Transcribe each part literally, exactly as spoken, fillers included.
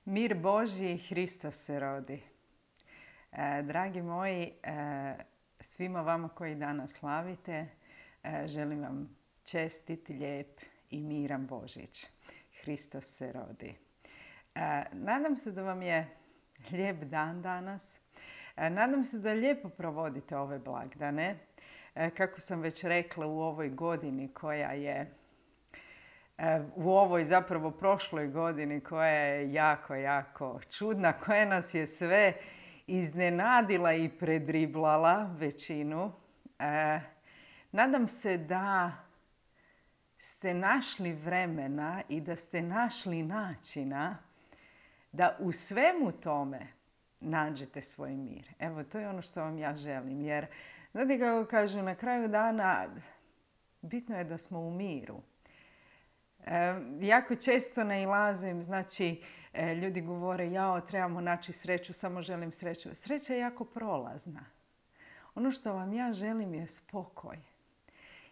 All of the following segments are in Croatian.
Mir Božji, Hristos se rodi. E, dragi moji, e, svima vama koji danas slavite, e, želim vam čestit, lijep i miran Božić. Hristos se rodi. E, nadam se da vam je lijep dan danas. E, nadam se da lijepo provodite ove blagdane. E, kako sam već rekla, u ovoj godini koja je u ovoj zapravo prošloj godini koja je jako, jako čudna, koja nas je sve iznenadila i predriblala većinu. E, nadam se da ste našli vremena i da ste našli načina da u svemu tome nađete svoj mir. Evo, to je ono što vam ja želim. Jer, znate kako kažu, na kraju dana bitno je da smo u miru. E, jako često nailazim, znači e, ljudi govore jao, trebamo naći sreću, samo želim sreću. Sreća je jako prolazna. Ono što vam ja želim je spokoj.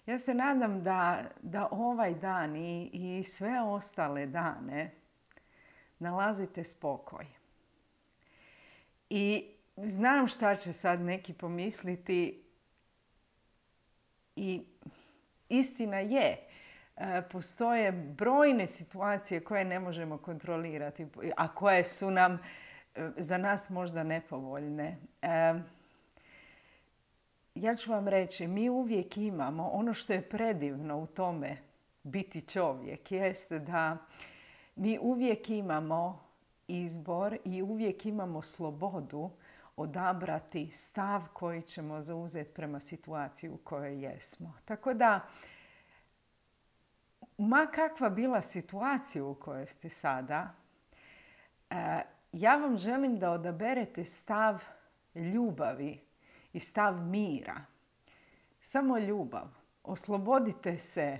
Ja se nadam da, da ovaj dan i, i sve ostale dane nalazite spokoj. I znam šta će sad neki pomisliti i istina je. Postoje brojne situacije koje ne možemo kontrolirati, a koje su nam za nas možda nepovoljne. Ja ću vam reći, mi uvijek imamo, ono što je predivno u tome biti čovjek, jeste da mi uvijek imamo izbor i uvijek imamo slobodu odabrati stav koji ćemo zauzeti prema situaciji u kojoj jesmo. Tako da, ma kakva bila situacija u kojoj ste sada, ja vam želim da odaberete stav ljubavi i stav mira. Samo ljubav. Oslobodite se.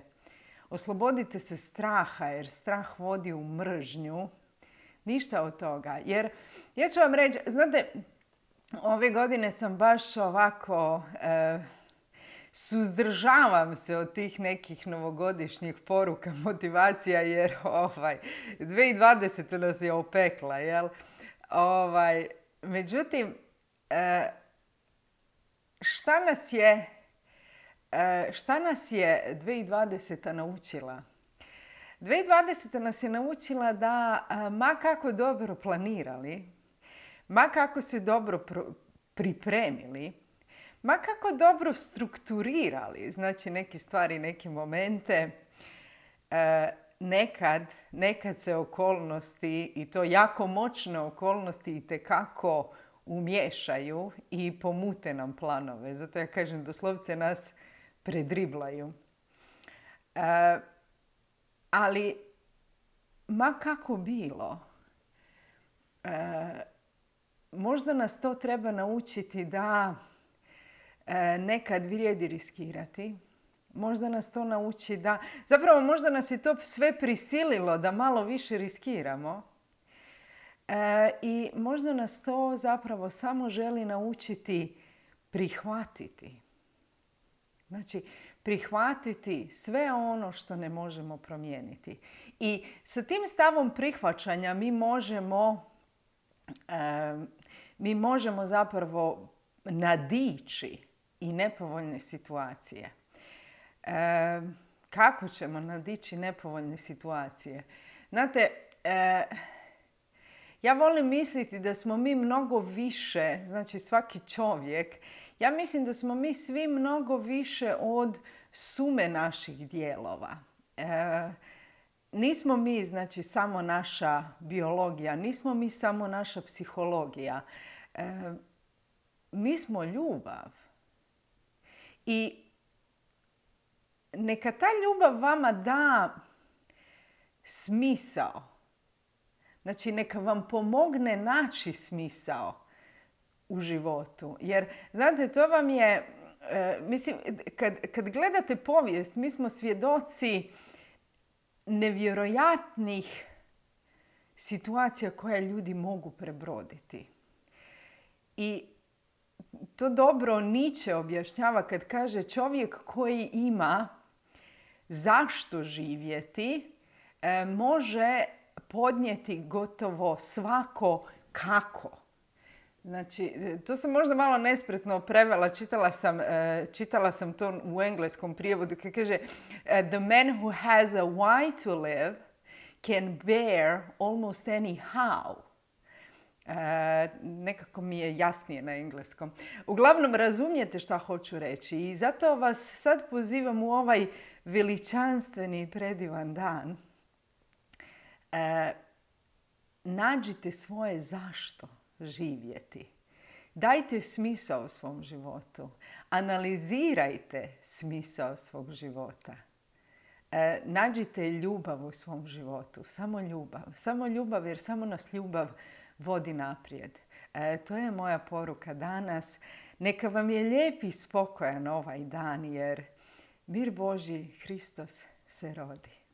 Oslobodite se straha, jer strah vodi u mržnju. Ništa od toga. Jer ja ću vam reći, znate, ove godine sam baš ovako E, suzdržavam se od tih nekih novogodišnjih poruka, motivacija, jer ovaj, dvije tisuće dvadeseta nas je opekla, jel? Ovaj, međutim, šta nas je, šta nas je dvije tisuće dvadeseta naučila? dvije tisuće dvadeseta nas je naučila da ma kako dobro planirali, ma kako se dobro pripremili, ma kako dobro strukturirali, znači neke stvari, neke momente, e, nekad, nekad se okolnosti, i to jako moćne okolnosti, itekako umiješaju i pomute nam planove. Zato ja kažem, doslovce nas predriblaju. E, ali, ma kako bilo, e, možda nas to treba naučiti da nekad vrijedi riskirati. Možda nas to nauči da... Zapravo možda nas je to sve prisililo da malo više riskiramo. E, I možda nas to zapravo samo želi naučiti prihvatiti. Znači, prihvatiti sve ono što ne možemo promijeniti. I sa tim stavom prihvaćanja mi možemo, e, mi možemo zapravo nadići i nepovoljne situacije. E, kako ćemo nadići nepovoljne situacije? Znate, e, ja volim misliti da smo mi mnogo više, znači svaki čovjek, ja mislim da smo mi svi mnogo više od sume naših dijelova. E, nismo mi, znači, samo naša biologija, nismo mi samo naša psihologija. E, mi smo ljubav. I neka ta ljubav vama da smisao. Znači, neka vam pomogne naći smisao u životu. Jer, znate, to vam je, e, mislim, kad, kad gledate povijest, mi smo svjedoci nevjerojatnih situacija koje ljudi mogu prebroditi. I to dobro Nietzsche objašnjava kad kaže čovjek koji ima zašto živjeti, može podnijeti gotovo svako kako. Znači, to sam možda malo nespretno prevela, čitala sam, čitala sam to u engleskom prijevodu koji kaže The man who has a why to live can bear almost any how. E, nekako mi je jasnije na engleskom. Uglavnom, razumijete šta hoću reći i zato vas sad pozivam u ovaj veličanstveni i predivan dan. E, nađite svoje zašto živjeti. Dajte smisao svom životu. Analizirajte smisao svog života. E, nađite ljubav u svom životu. Samo ljubav. Samo ljubav jer samo nas ljubav vodi naprijed. E, to je moja poruka danas. Neka vam je lijep i spokojan ovaj dan jer mir Božji Hristos se rodi.